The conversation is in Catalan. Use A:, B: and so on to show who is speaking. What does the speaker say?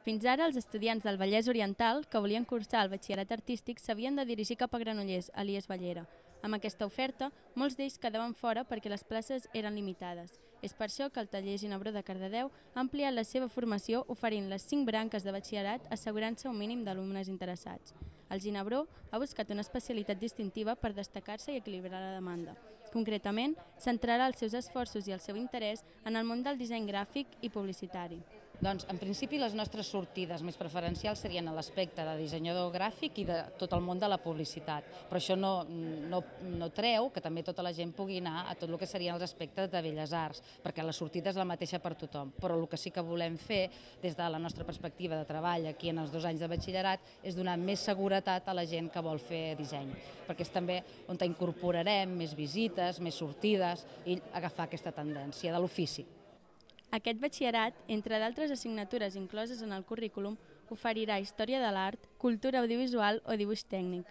A: Fins ara, els estudiants del Vallès Oriental que volien cursar el batxillerat artístic s'havien de dirigir cap a Granollers, alias Bellera. Amb aquesta oferta, molts d'ells quedaven fora perquè les places eren limitades. És per això que el taller Ginebró de Cardedeu ha ampliat la seva formació oferint les 5 branques de batxillerat assegurant-se un mínim d'alumnes interessats. El Ginebró ha buscat una especialitat distintiva per destacar-se i equilibrar la demanda. Concretament, centrarà els seus esforços i el seu interès en el món del disseny gràfic i publicitari.
B: Doncs, en principi, les nostres sortides més preferencials serien a l'aspecte de dissenyador gràfic i de tot el món de la publicitat. Però això no treu que també tota la gent pugui anar a tot el que serien els aspectes de belles arts, perquè la sortida és la mateixa per tothom. Però el que sí que volem fer, des de la nostra perspectiva de treball aquí en els 2 anys de batxillerat, és donar més seguretat a la gent que vol fer disseny, perquè és també on incorporarem més visites, més sortides i agafar aquesta tendència de l'ofici.
A: Aquest batxillerat, entre d'altres assignatures incloses en el currículum, oferirà història de l'art, cultura audiovisual o dibuix tècnic.